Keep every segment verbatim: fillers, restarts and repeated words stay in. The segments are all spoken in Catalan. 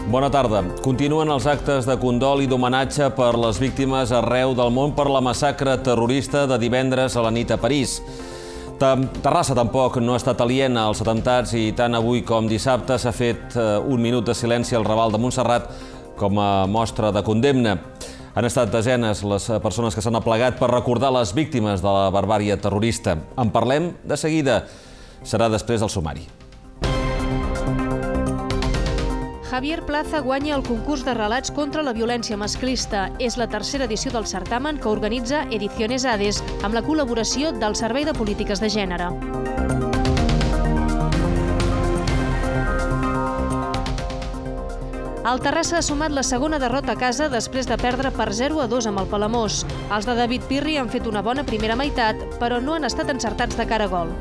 Bona tarda. Continuen els actes de condol i d'homenatge per les víctimes arreu del món per la massacre terrorista de divendres a la nit a París. Terrassa tampoc no ha estat aliena als atemptats i tant avui com dissabte s'ha fet un minut de silenci al Raval de Montserrat com a mostra de condemna. Han estat desenes les persones que s'han aplegat per recordar les víctimes de la barbàrie terrorista. En parlem de seguida. Serà després del sumari. Javier Plaza guanya el concurs de relats contra la violència masclista. És la tercera edició del certamen que organitza Ediciones Hades, amb la col·laboració del Servei de Polítiques de Gènere. El Terrassa ha sumat la segona derrota a casa després de perdre per zero a dos amb el Palamós. Els de David Pirri han fet una bona primera meitat, però no han estat encertats de cara a gol.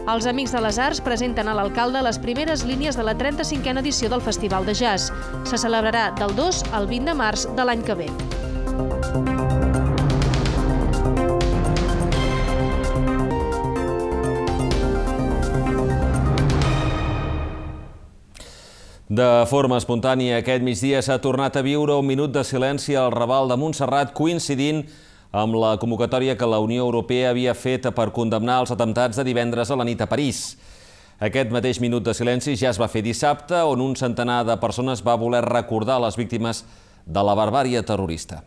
Els Amics de les Arts presenten a l'alcalde les primeres línies de la trenta-cinquena edició del Festival de Jazz. Se celebrarà del dos al vint de març de l'any que ve. De forma espontània, aquest migdia s'ha tornat a viure un minut de silenci al Raval de Montserrat, coincidint amb la convocatòria que la Unió Europea havia fet per condemnar els atemptats de divendres a la nit a París. Aquest mateix minut de silenci ja es va fer dissabte, on un centenar de persones va voler recordar les víctimes de la barbàrie terrorista.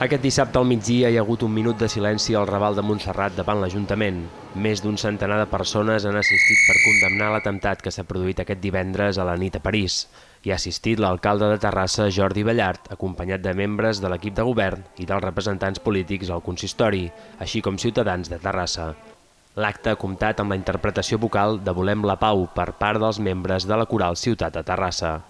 Aquest dissabte al migdia hi ha hagut un minut de silenci al Raval de Montserrat davant l'Ajuntament. Més d'un centenar de persones han assistit per condemnar l'atemptat que s'ha produït aquest divendres a la nit a París. Hi ha assistit l'alcalde de Terrassa, Jordi Ballart, acompanyat de membres de l'equip de govern i dels representants polítics al consistori, així com ciutadans de Terrassa. L'acte ha comptat amb la interpretació vocal de Volem la Pau per part dels membres de la coral Ciutat de Terrassa.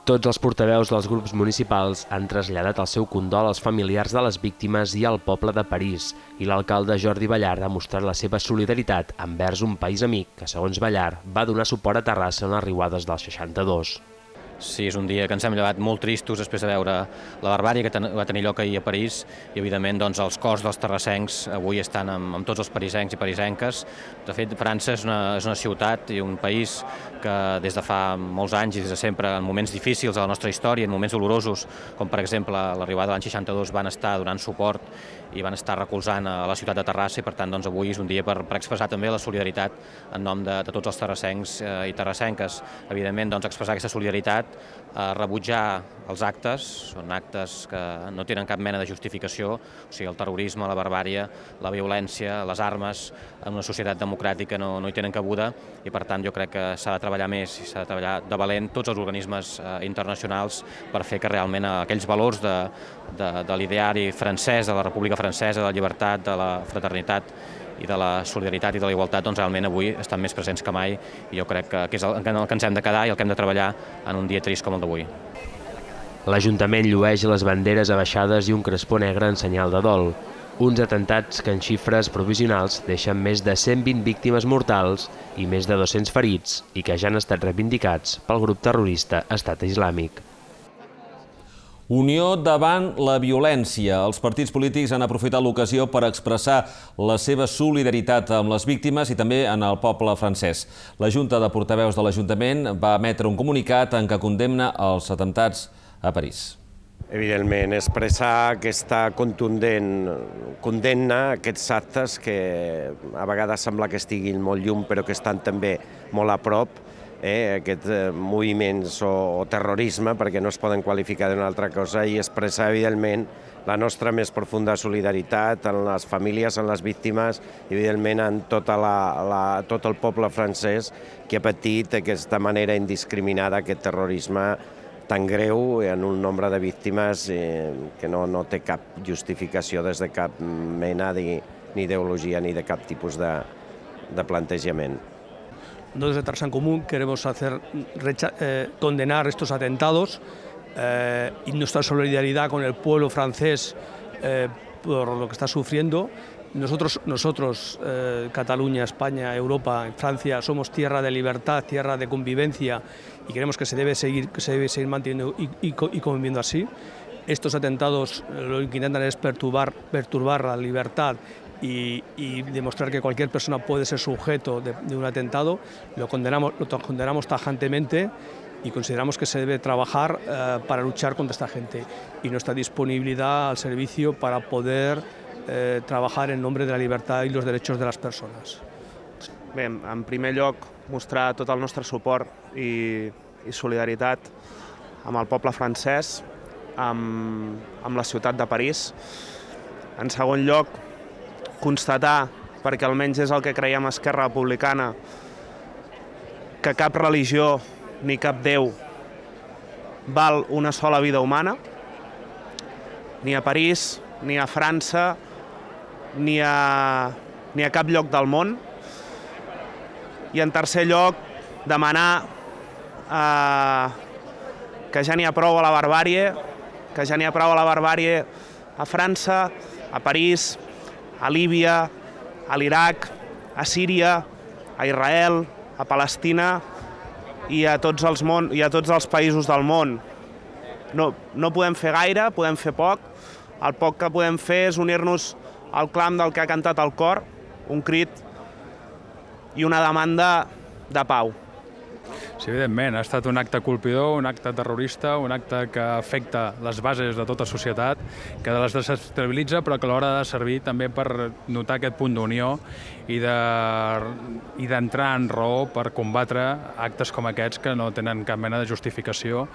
Tots els portaveus dels grups municipals han traslladat el seu condol als familiars de les víctimes i al poble de París, i l'alcalde Jordi Ballart ha mostrat la seva solidaritat envers un país amic que, segons Ballart, va donar suport a Terrassa en les riuades del seixanta-dos. Sí, és un dia que ens hem llevat molt tristos després de veure la barbàrie que va tenir lloc ahir a París i, evidentment, els cors dels terrassencs avui estan amb tots els parisencs i parisenques. De fet, França és una ciutat i un país que des de fa molts anys i des de sempre, en moments difícils de la nostra història, en moments dolorosos, com per exemple l'arribada de l'any seixanta-dos, van estar donant suport i van estar recolzant a la ciutat de Terrassa i, per tant, avui és un dia per expressar també la solidaritat en nom de tots els terrassencs i terrassenques. Evidentment, expressar aquesta solidaritat, rebutjar els actes, són actes que no tenen cap mena de justificació, o sigui, el terrorisme, la barbàrie, la violència, les armes, en una societat democràtica no hi tenen cabuda i, per tant, jo crec que s'ha de treballar més i s'ha de treballar de valent tots els organismes internacionals per fer que realment aquells valors de l'ideari francès, de la República Francesa, de la llibertat, de la fraternitat i de la solidaritat i de la igualtat, doncs realment avui estan més presents que mai i jo crec que és el que ens hem de quedar i el que hem de treballar en un dia trist com el d'avui. L'Ajuntament llueix les banderes abaixades i un crespó negre en senyal de dol. Uns atemptats que en xifres provisionals deixen més de cent vint víctimes mortals i més de dos-cents ferits i que ja han estat reivindicats pel grup terrorista Estat Islàmic. Unió davant la violència. Els partits polítics han aprofitat l'ocasió per expressar la seva solidaritat amb les víctimes i també en el poble francès. La Junta de Portaveus de l'Ajuntament va emetre un comunicat en què condemna els atemptats a París. Evidentment, expressar aquesta contundent condemna a aquests actes que a vegades sembla que estiguin molt lluny però que estan també molt a prop, aquests moviments o terrorisme, perquè no es poden qualificar d'una altra cosa, i expressar, evidentment, la nostra més profunda solidaritat en les famílies, en les víctimes, i, evidentment, en tot el poble francès que ha patit d'aquesta manera indiscriminada aquest terrorisme tan greu en un nombre de víctimes que no té cap justificació des de cap mena ni ideologia ni de cap tipus de plantejament. Desde Terrassa en Común queremos hacer, eh, condenar estos atentados eh, y nuestra solidaridad con el pueblo francés eh, por lo que está sufriendo. Nosotros, nosotros eh, Cataluña, España, Europa, Francia, somos tierra de libertad, tierra de convivencia y creemos que se debe seguir, que se debe seguir manteniendo y, y, y conviviendo así. Estos atentados lo que intentan es perturbar, perturbar la libertad y, y demostrar que cualquier persona puede ser sujeto de, de un atentado, lo condenamos, lo condenamos tajantemente y consideramos que se debe trabajar eh, para luchar contra esta gente y nuestra disponibilidad al servicio para poder eh, trabajar en nombre de la libertad y los derechos de les persones. Bé, en primer lloc, mostrar tot el nostre suport i, i solidaritat amb el poble francès, amb, amb la ciutat de París. En segon lloc, constatar, perquè almenys és el que creiem a Esquerra Republicana, que cap religió ni cap déu val una sola vida humana, ni a París, ni a França, ni a, ni a cap lloc del món. I en tercer lloc, demanar eh, que ja n'hi ha prou a la barbàrie, que ja n'hi ha prou a la barbàrie a França, a París, a Líbia, a l'Iraq, a Síria, a Israel, a Palestina i a tots els, món, i a tots els països del món. No, no podem fer gaire, podem fer poc. El poc que podem fer és unir-nos al clam del que ha cantat el cor, un crit i una demanda de pau. Sí, evidentment, ha estat un acte colpidor, un acte terrorista, un acte que afecta les bases de tota societat, que les desestabilitza, però que alhora ha de servir també per notar aquest punt d'unió i d'entrar en raó per combatre actes com aquests que no tenen cap mena de justificació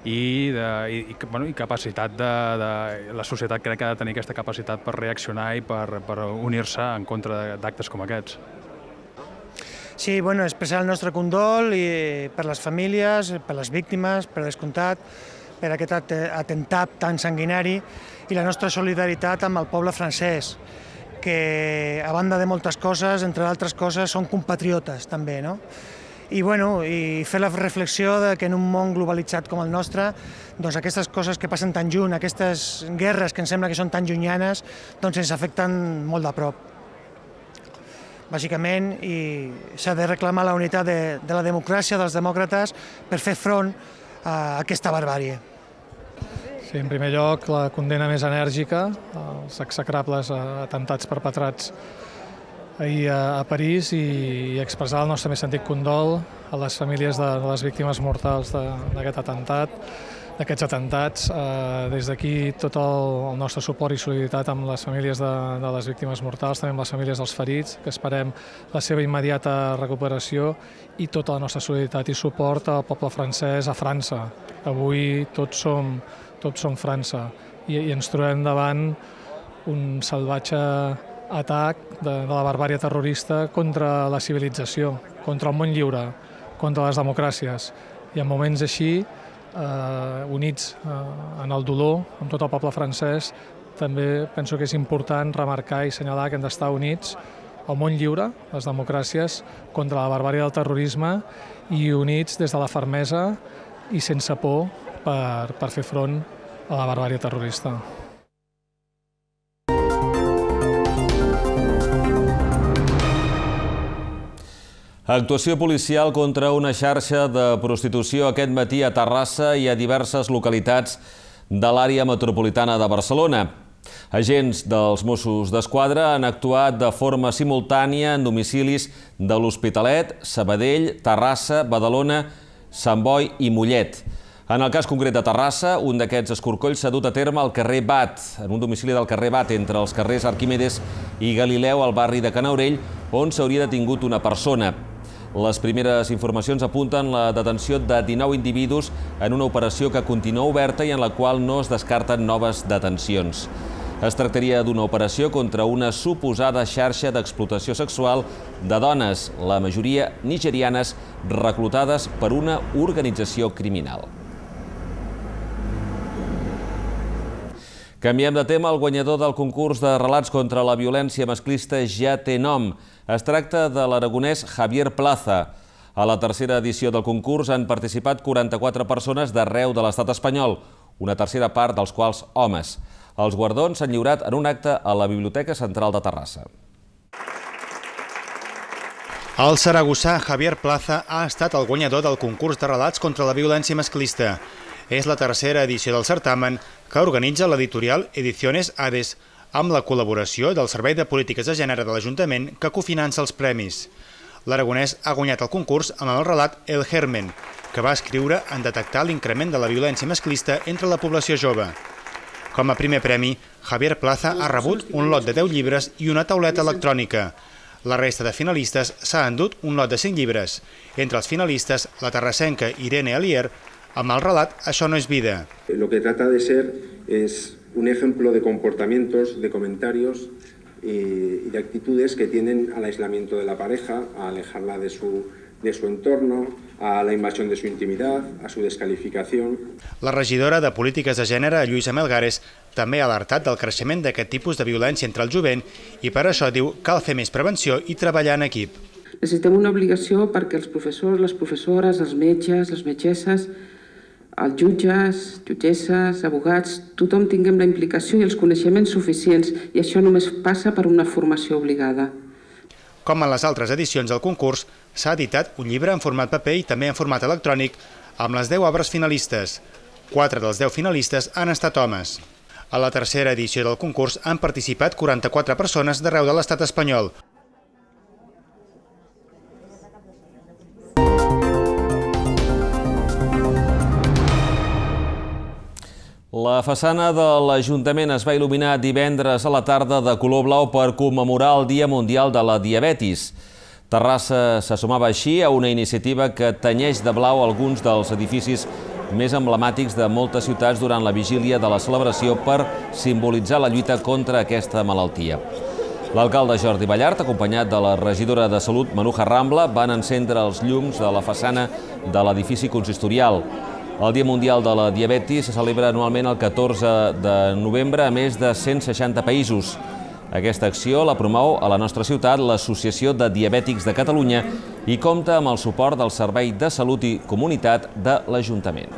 i, de, i, bueno, i capacitat de, de... La societat crec que ha de tenir aquesta capacitat per reaccionar i per, per unir-se en contra d'actes com aquests. Sí, bueno, expressar el nostre condol i per les famílies, per les víctimes, per descomptat, per aquest atemptat tan sanguinari i la nostra solidaritat amb el poble francès, que a banda de moltes coses, entre d'altres coses, són compatriotes també, no? I, bueno, i fer la reflexió de que en un món globalitzat com el nostre, doncs aquestes coses que passen tan lluny, aquestes guerres que ens sembla que són tan llunyanes, doncs ens afecten molt de prop. Bàsicament, i s'ha de reclamar la unitat de, de la democràcia, dels demòcrates, per fer front a aquesta barbàrie. Sí, en primer lloc, la condemna més enèrgica als execrables atemptats perpetrats ahir a París i expressar el nostre més sentit condol a les famílies de les víctimes mortals d'aquest atemptat, d'aquests atemptats. Des d'aquí tot el nostre suport i solidaritat amb les famílies de, de les víctimes mortals, també amb les famílies dels ferits, que esperem la seva immediata recuperació, i tota la nostra solidaritat i suport al poble francès a França. Avui tots som, tots som França i, i ens trobem davant un salvatge atac de, de la barbària terrorista contra la civilització, contra el món lliure, contra les democràcies. I en moments així, Eh, units eh, en el dolor, amb tot el poble francès, també penso que és important remarcar i assenyalar que hem d'estar units al món lliure, les democràcies, contra la barbària del terrorisme, i units des de la fermesa i sense por per, per fer front a la barbària terrorista. Actuació policial contra una xarxa de prostitució aquest matí a Terrassa i a diverses localitats de l'àrea metropolitana de Barcelona. Agents dels Mossos d'Esquadra han actuat de forma simultània en domicilis de l'Hospitalet, Sabadell, Terrassa, Badalona, Sant Boi i Mollet. En el cas concret de Terrassa, un d'aquests escorcolls s'ha dut a terme al carrer Bat, en un domicili del carrer Bat, entre els carrers Arquimedes i Galileu, al barri de Canaurell, on s'hauria detingut una persona. Les primeres informacions apunten la detenció de dinou individus en una operació que continua oberta i en la qual no es descarten noves detencions. Es tractaria d'una operació contra una suposada xarxa d'explotació sexual de dones, la majoria nigerianes, reclutades per una organització criminal. Canviem de tema. El guanyador del concurs de relats contra la violència masclista ja té nom. Es tracta de l'aragonès Javier Plaza. A la tercera edició del concurs han participat quaranta-quatre persones d'arreu de l'estat espanyol, una tercera part dels quals homes. Els guardons s'han lliurat en un acte a la Biblioteca Central de Terrassa. El saragossà Javier Plaza ha estat el guanyador del concurs de relats contra la violència masclista. És la tercera edició del certamen que organitza l'editorial Ediciones Hades, amb la col·laboració del Servei de Polítiques de Gènere de l'Ajuntament que cofinança els premis. L'aragonès ha guanyat el concurs amb el relat El Germen, que va escriure en detectar l'increment de la violència masclista entre la població jove. Com a primer premi, Javier Plaza ha rebut un lot de deu llibres i una tauleta electrònica. La resta de finalistes s'ha endut un lot de cinc llibres. Entre els finalistes, la terrassenca Irene Alier, amb el relat Això no és vida. Lo que trata de ser es un ejemplo de comportamientos, de comentarios y de actitudes que tienden al aislamiento de la pareja, a alejarla de su, de su entorno, a la invasión de su intimidad, a su descalificación. La regidora de Polítiques de Gènere, Lluïsa Melgares, també ha alertat del creixement d'aquest tipus de violència entre el jovent i per això diu que cal fer més prevenció i treballar en equip. Necessitem una obligació perquè els professors, les professores, els metges, les metgesses, els jutges, jutgesses, abogats, tothom tinguem la implicació i els coneixements suficients, i això només passa per una formació obligada. Com en les altres edicions del concurs, s'ha editat un llibre en format paper i també en format electrònic amb les deu obres finalistes. Quatre dels deu finalistes han estat homes. A la tercera edició del concurs han participat quaranta-quatre persones d'arreu de l'estat espanyol. La façana de l'Ajuntament es va il·luminar divendres a la tarda de color blau per commemorar el Dia Mundial de la Diabetis. Terrassa se sumava així a una iniciativa que tenyeix de blau alguns dels edificis més emblemàtics de moltes ciutats durant la vigília de la celebració per simbolitzar la lluita contra aquesta malaltia. L'alcalde Jordi Ballart, acompanyat de la regidora de Salut, Manuja Rambla, van encendre els llums de la façana de l'edifici consistorial. El Dia Mundial de la Diabetis se celebra anualment el catorze de novembre a més de cent seixanta països. Aquesta acció la promou a la nostra ciutat l'Associació de Diabètics de Catalunya i compta amb el suport del Servei de Salut i Comunitat de l'Ajuntament.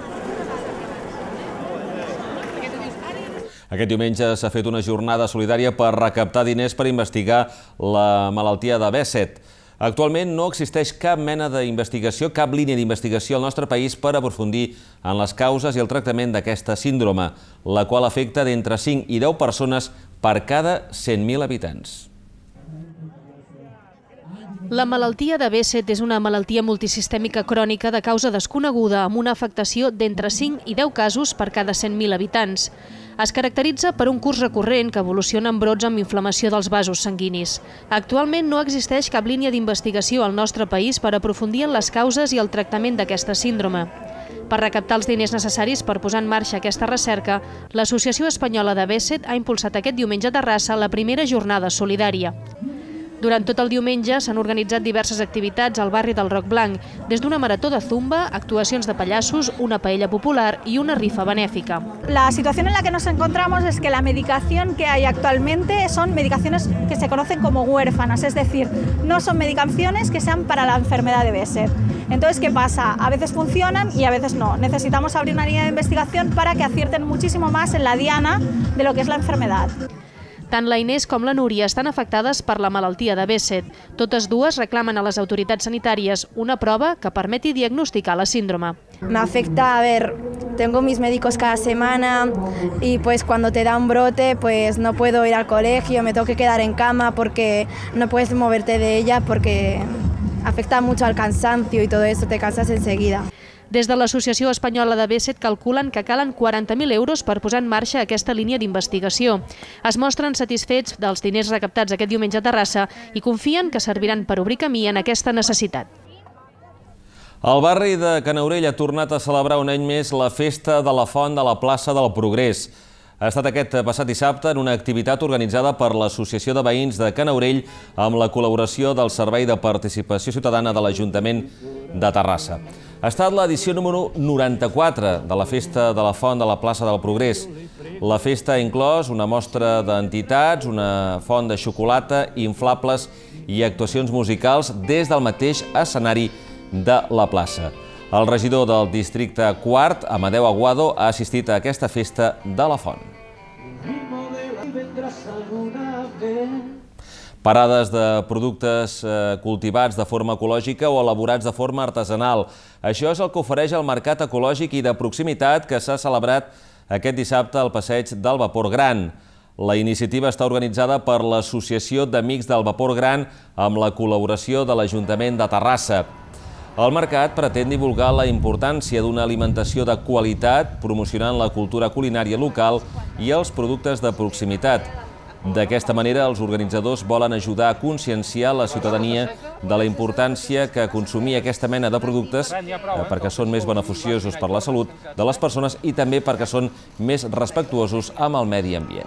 Aquest diumenge s'ha fet una jornada solidària per recaptar diners per investigar la malaltia de Behçet. Actualment no existeix cap mena d'investigació, cap línia d'investigació al nostre país per aprofundir en les causes i el tractament d'aquesta síndrome, la qual afecta d'entre cinc i deu persones per cada cent mil habitants. La malaltia de Behçet és una malaltia multisistèmica crònica de causa desconeguda amb una afectació d'entre cinc i deu casos per cada cent mil habitants. Es caracteritza per un curs recurrent que evoluciona en brots amb inflamació dels vasos sanguinis. Actualment no existeix cap línia d'investigació al nostre país per aprofundir en les causes i el tractament d'aquesta síndrome. Per recaptar els diners necessaris per posar en marxa aquesta recerca, l'Associació Espanyola de Behçet ha impulsat aquest diumenge a Terrassa la primera jornada solidària. Durant tot el diumenge s'han organitzat diverses activitats al barri del Roc Blanc, des d'una marató de zumba, actuacions de pallassos, una paella popular y una rifa benéfica. La situación en la que nos encontramos es que la medicación que hay actualmente son medicaciones que se conocen como huérfanas, es decir, no son medicaciones que sean para la enfermedad de Behçet. Entonces, ¿qué pasa? A veces funcionan y a veces no. Necesitamos abrir una línea de investigación para que acierten muchísimo más en la diana de lo que es la enfermedad. Tant la Inés com la Núria estan afectades per la malaltia de Behçet. Totes dues reclamen a les autoritats sanitàries una prova que permeti diagnosticar la síndrome. Me afecta, a ver, tengo mis médicos cada semana y pues cuando te da un brote pues no puedo ir al colegio, me tengo que quedar en cama porque no puedes moverte de ella porque afecta mucho al cansancio y todo eso, te cansas enseguida. Des de l'Associació Espanyola de Behçet calculen que calen quaranta mil euros per posar en marxa aquesta línia d'investigació. Es mostren satisfets dels diners recaptats aquest diumenge a Terrassa i confien que serviran per obrir camí en aquesta necessitat. El barri de Canaurell ha tornat a celebrar un any més la Festa de la Font de la plaça del Progrés. Ha estat aquest passat dissabte en una activitat organitzada per l'Associació de Veïns de Canaurell amb la col·laboració del Servei de Participació Ciutadana de l'Ajuntament de Terrassa. Ha estat l'edició número noranta-quatre de la Festa de la Font de la plaça del Progrés. La festa ha inclòs una mostra d'entitats, una font de xocolata, inflables i actuacions musicals des del mateix escenari de la plaça. El regidor del districte quart, Amadeu Aguado, ha assistit a aquesta festa de la font. Parades de productes cultivats de forma ecològica o elaborats de forma artesanal. Això és el que ofereix el Mercat Ecològic i de Proximitat que s'ha celebrat aquest dissabte al Passeig del Vapor Gran. La iniciativa està organitzada per l'Associació d'Amics del Vapor Gran amb la col·laboració de l'Ajuntament de Terrassa. El mercat pretén divulgar la importància d'una alimentació de qualitat, promocionant la cultura culinària local i els productes de proximitat. D'aquesta manera, els organitzadors volen ajudar a conscienciar la ciutadania de la importància que consumir aquesta mena de productes perquè són més beneficiosos per la salut de les persones i també perquè són més respectuosos amb el medi ambient.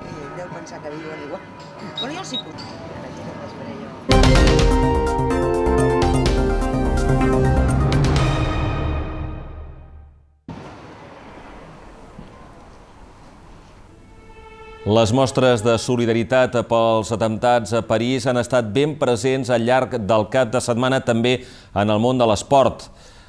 Les mostres de solidaritat pels atemptats a París han estat ben presents al llarg del cap de setmana també en el món de l'esport.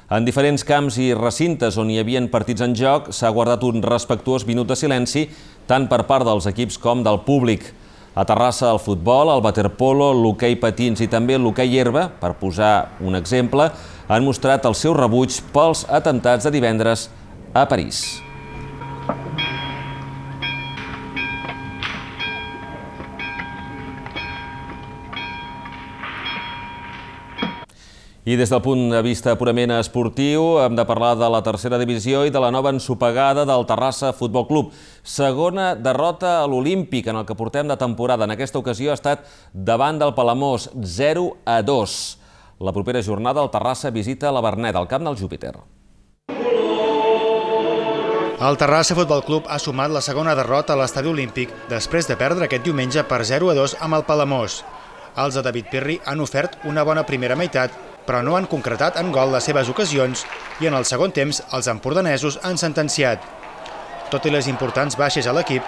En diferents camps i recintes on hi havia partits en joc s'ha guardat un respectuós minut de silenci tant per part dels equips com del públic. A Terrassa el futbol, el waterpolo, l'hoquei patins i també l'hoquei herba, per posar un exemple, han mostrat el seu rebuig pels atemptats de divendres a París. I des del punt de vista purament esportiu hem de parlar de la tercera divisió i de la nova ensopegada del Terrassa Futbol Club. Segona derrota a l'Olímpic en el que portem de temporada. En aquesta ocasió ha estat davant del Palamós, zero a dos. La propera jornada el Terrassa visita la Verneda, al camp del Júpiter. El Terrassa Futbol Club ha sumat la segona derrota a l'Estadi Olímpic després de perdre aquest diumenge per zero a dos amb el Palamós. Els de David Pirri han ofert una bona primera meitat, però no han concretat en gol les seves ocasions i en el segon temps els empordanesos han sentenciat. Tot i les importants baixes a l'equip,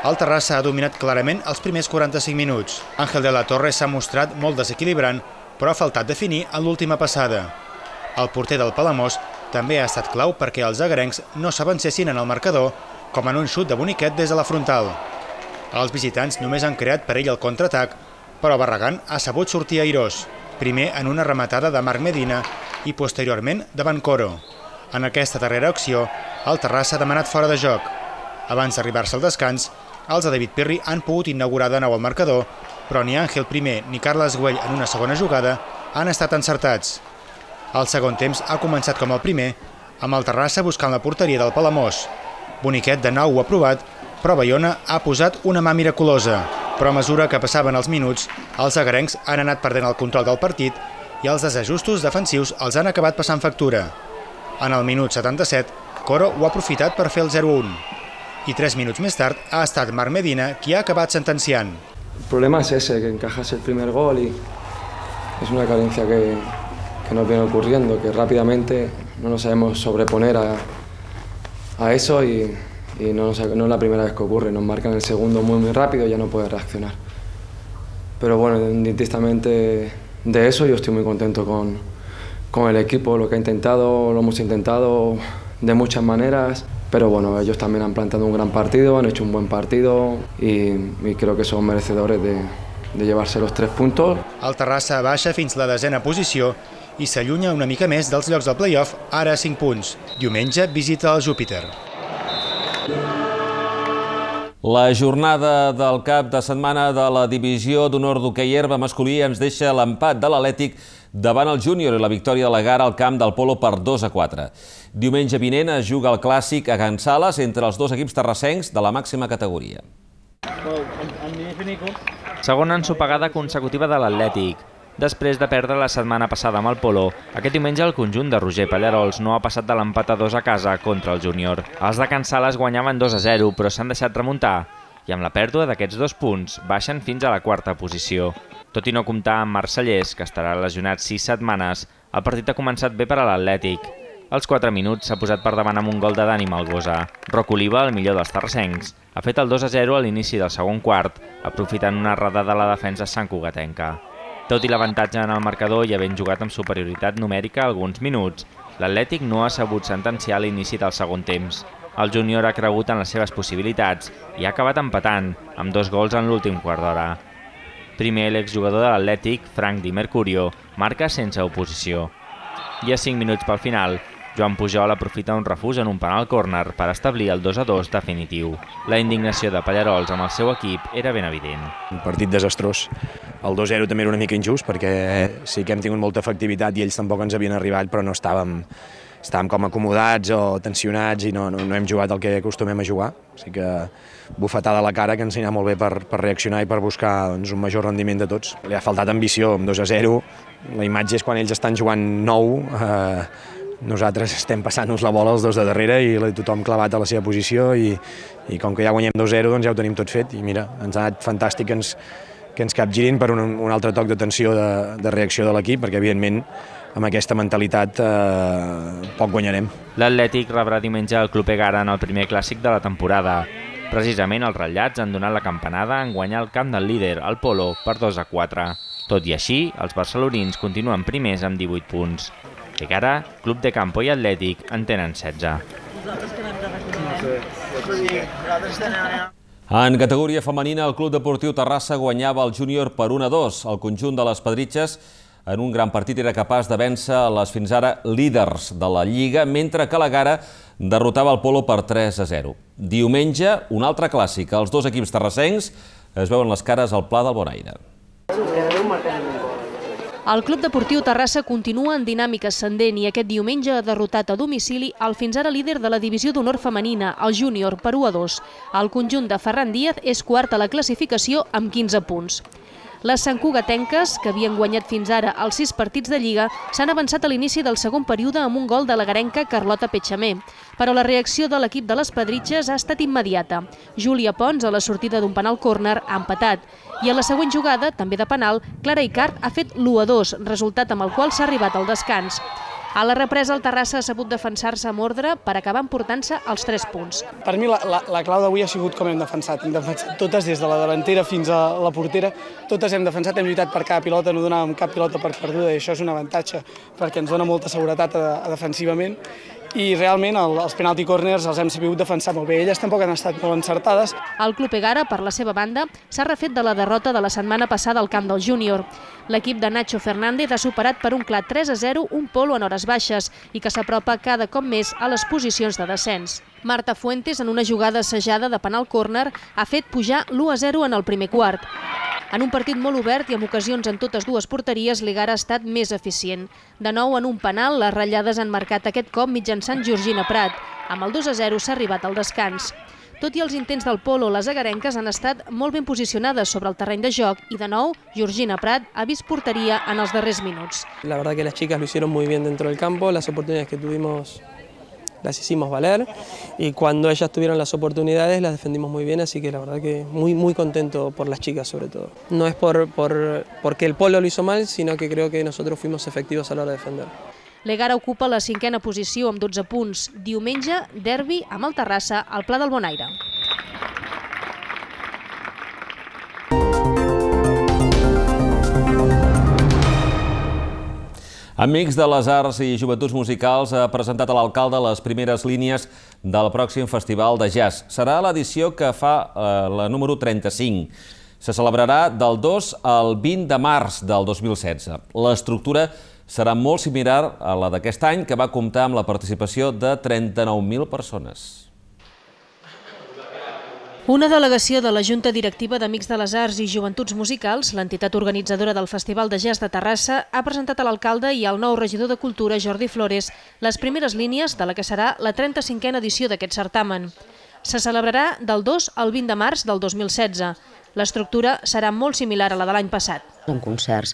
el Terrassa ha dominat clarament els primers quaranta-cinc minuts. Ángel de la Torre s'ha mostrat molt desequilibrant, però ha faltat definir en l'última passada. El porter del Palamós també ha estat clau perquè els agarencs no s'avancessin en el marcador, com en un xut de Boniquet des de la frontal. Els visitants només han creat per ell el contraatac, però Barragán ha sabut sortir airós, primer en una rematada de Marc Medina i posteriorment davant Coro. En aquesta darrera acció, el Terrassa ha demanat fora de joc. Abans d'arribar-se al descans, els de David Pirri han pogut inaugurar de nou el marcador, però ni Ángel primer ni Carles Güell en una segona jugada han estat encertats. El segon temps ha començat com el primer, amb el Terrassa buscant la porteria del Palamós. Boniquet de nou ho ha provat, però Bayona ha posat una mà miraculosa. Però a mesura que passaven els minuts, els agarencs han anat perdent el control del partit i els desajustos defensius els han acabat passant factura. En el minut setanta-set, Coro ho ha aprofitat per fer el zero a un. I tres minuts més tard ha estat Marc Medina qui ha acabat sentenciant. El problema es ese, que encajas el primer gol y es una carencia que, que nos viene ocurriendo, que rápidamente no nos sabemos sobreponer a, a eso y... y no, no es la primera vez que ocurre, nos marcan el segundo muy muy rápido y ya no puede reaccionar. Pero bueno, indistintamente de eso yo estoy muy contento con, con el equipo, lo que ha intentado, lo hemos intentado de muchas maneras, pero bueno, ellos también han plantado un gran partido, han hecho un buen partido y, y creo que son merecedores de, de llevarse los tres puntos. El Terrassa baixa fins la desena posició i s'allunya una mica més dels llocs del play-off, ara a cinc punts. Diumenge visita el Júpiter. La jornada del cap de setmana de la divisió d'honor d'hoquei herba masculí ens deixa l'empat de l'Atlètic davant el Júnior i la victòria de la Gara al camp del Polo per dos a quatre. Diumenge vinent es juga el clàssic a Can Sales entre els dos equips terrassencs de la màxima categoria. Segona ensopegada consecutiva de l'Atlètic. Després de perdre la setmana passada amb el Polo, aquest diumenge el conjunt de Roger Pallarols no ha passat de l'empat a dos a casa contra el Júnior. Els de Can Sales guanyaven dos a zero, però s'han deixat remuntar, i amb la pèrdua d'aquests dos punts baixen fins a la quarta posició. Tot i no comptar amb Marcellers, que estarà lesionat sis setmanes, el partit ha començat bé per a l'Atlètic. Als quatre minuts s'ha posat per davant amb un gol de Dani Malgosa. Roc Oliva, el millor dels terrassencs, ha fet el dos a zero a l'inici del segon quart, aprofitant una errada de la defensa santcugatenca. Tot i l'avantatge en el marcador i havent jugat amb superioritat numèrica alguns minuts, l'Atlètic no ha sabut sentenciar l'inici del segon temps. El Júnior ha cregut en les seves possibilitats i ha acabat empatant, amb dos gols en l'últim quart d'hora. Primer, l'exjugador de l'Atlètic, Frank Di Mercurio, marca sense oposició. I a cinc minuts pel final, Joan Pujol aprofita un refús en un penal córner per establir el dos a dos definitiu. La indignació de Pallarols amb el seu equip era ben evident. Un partit desastrós. El dos a zero també era una mica injust perquè sí que hem tingut molta efectivitat i ells tampoc ens havien arribat, però no estàvem, estàvem com acomodats o tensionats i no, no, no hem jugat el que acostumem a jugar. O sigui que bufetada a la cara que ens anirà molt bé per, per reaccionar i per buscar doncs, un major rendiment de tots. Li ha faltat ambició, amb dos a zero. La imatge és quan ells estan jugant nou, eh, nosaltres estem passant-nos la bola els dos de darrere i tothom clavat a la seva posició i, i com que ja guanyem dos a zero doncs ja ho tenim tot fet i mira, ens ha anat fantàstic que ens, que ens capgirin per un, un altre toc d'atenció de, de reacció de l'equip perquè evidentment amb aquesta mentalitat eh, poc guanyarem. L'Atlètic rebrà diumenge el Club Egara en el primer clàssic de la temporada. Precisament els ratllats han donat la campanada en guanyar el camp del líder, el Polo, per dos a quatre. Tot i així, els barcelonins continuen primers amb divuit punts. Egara, Club de Campo i Atlètic en tenen setze. En categoria femenina, el Club Deportiu Terrassa guanyava el júnior per un a dos. El conjunt de les Pedritxes en un gran partit era capaç de vèncer les fins ara líders de la Lliga, mentre que l'Egara derrotava el Polo per tres a zero. Diumenge, un altre clàssic. Els dos equips terrassencs es veuen les cares al Pla del Bonaire. El Club Deportiu Terrassa continua en dinàmica ascendent i aquest diumenge ha derrotat a domicili el fins ara líder de la divisió d'honor femenina, el júnior, per u a dos. El conjunt de Ferran Díaz és quart a la classificació amb quinze punts. Les santcugatenques, que havien guanyat fins ara els sis partits de Lliga, s'han avançat a l'inici del segon període amb un gol de la garenca Carlota Petxamer. Però la reacció de l'equip de les Pedritxes ha estat immediata. Júlia Pons, a la sortida d'un penal córner, ha empatat. I a la següent jugada, també de penal, Clara Icart ha fet l'u a dos, resultat amb el qual s'ha arribat al descans. A la represa, el Terrassa ha sabut defensar-se amb ordre per acabar emportant-se els tres punts. Per mi la, la, la clau d'avui ha sigut com hem defensat. Hem defensat totes, des de la davantera fins a la portera. Totes hem defensat, hem lluitat per cada pilota, no donàvem cap pilota per perduda i això és un avantatge perquè ens dona molta seguretat a, a defensivament. I realment el, els penalty corners els hem sabut defensar molt bé. Elles tampoc han estat molt encertades. El Club Egara, per la seva banda, s'ha refet de la derrota de la setmana passada al camp del júnior. L'equip de Nacho Fernández ha superat per un clar tres a zero un Polo en hores baixes i que s'apropa cada cop més a les posicions de descens. Marta Fuentes, en una jugada assajada de penal córner, ha fet pujar l'u a zero en el primer quart. En un partit molt obert i amb ocasions en totes dues porteries, l'Egara ha estat més eficient. De nou, en un penal, les ratllades han marcat aquest cop mitjançant Georgina Prat. Amb el dos a zero s'ha arribat al descans. Tot i els intents del Polo, les agarenques han estat molt ben posicionades sobre el terreny de joc i, de nou, Georgina Prat ha vist porteria en els darrers minuts. La verdad que las chicas lo hicieron muy bien dentro del campo, las oportunidades que tuvimos las hicimos valer y cuando ellas tuvieron las oportunidades las defendimos muy bien, así que la verdad que muy muy contento por las chicas sobre todo. No es por, por, porque el Polo lo hizo mal, sino que creo que nosotros fuimos efectivos a la hora de defender. L'Egara ocupa la cinquena posició amb dotze punts. Diumenge, derbi amb el Terrassa al Pla del Bonaire. Amics de les Arts i Joventuts Musicals ha presentat a l'alcalde les primeres línies del pròxim Festival de Jazz. Serà l'edició que fa eh, la número trenta-cinc. Se celebrarà del dos al vint de març del dos mil setze. L'estructura serà molt similar a la d'aquest any, que va comptar amb la participació de trenta-nou mil persones. Una delegació de la Junta Directiva d'Amics de les Arts i Joventuts Musicals, l'entitat organitzadora del Festival de Jazz de Terrassa, ha presentat a l'alcalde i al nou regidor de Cultura, Jordi Flores, les primeres línies de la que serà la trenta-cinquena edició d'aquest certamen. Se celebrarà del dos al vint de març del dos mil setze. L'estructura serà molt similar a la de l'any passat. Amb concerts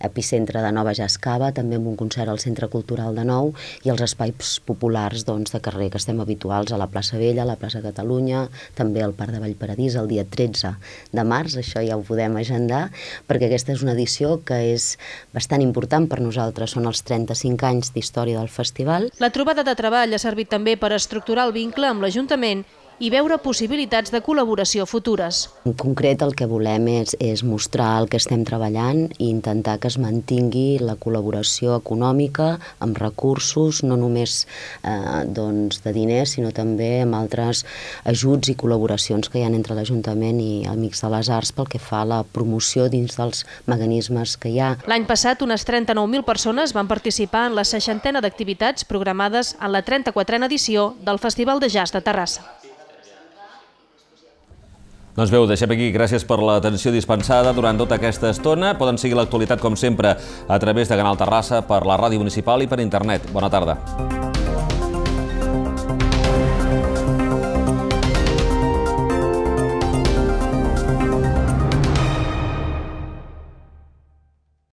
Epicentre de Nova Jazz Cava, també amb un concert al Centre Cultural de Nou i els espais populars doncs, de carrer que estem habituals a la plaça Vella, a la plaça Catalunya, també al Parc de Vallparadís el dia tretze de març, això ja ho podem agendar, perquè aquesta és una edició que és bastant important per nosaltres, són els trenta-cinc anys d'història del festival. La trobada de treball ha servit també per estructurar el vincle amb l'Ajuntament i veure possibilitats de col·laboració futures. En concret, el que volem és, és mostrar el que estem treballant i intentar que es mantingui la col·laboració econòmica amb recursos, no només eh, doncs, de diners, sinó també amb altres ajuts i col·laboracions que hi ha entre l'Ajuntament i Amics de les Arts pel que fa a la promoció dins dels mecanismes que hi ha. L'any passat, unes trenta-nou mil persones van participar en la seixantena d'activitats programades en la trenta-quatrena edició del Festival de Jazz de Terrassa. Doncs bé, ho deixem aquí. Gràcies per l'atenció dispensada durant tota aquesta estona. Poden seguir l'actualitat, com sempre, a través de Canal Terrassa, per la ràdio municipal i per internet. Bona tarda.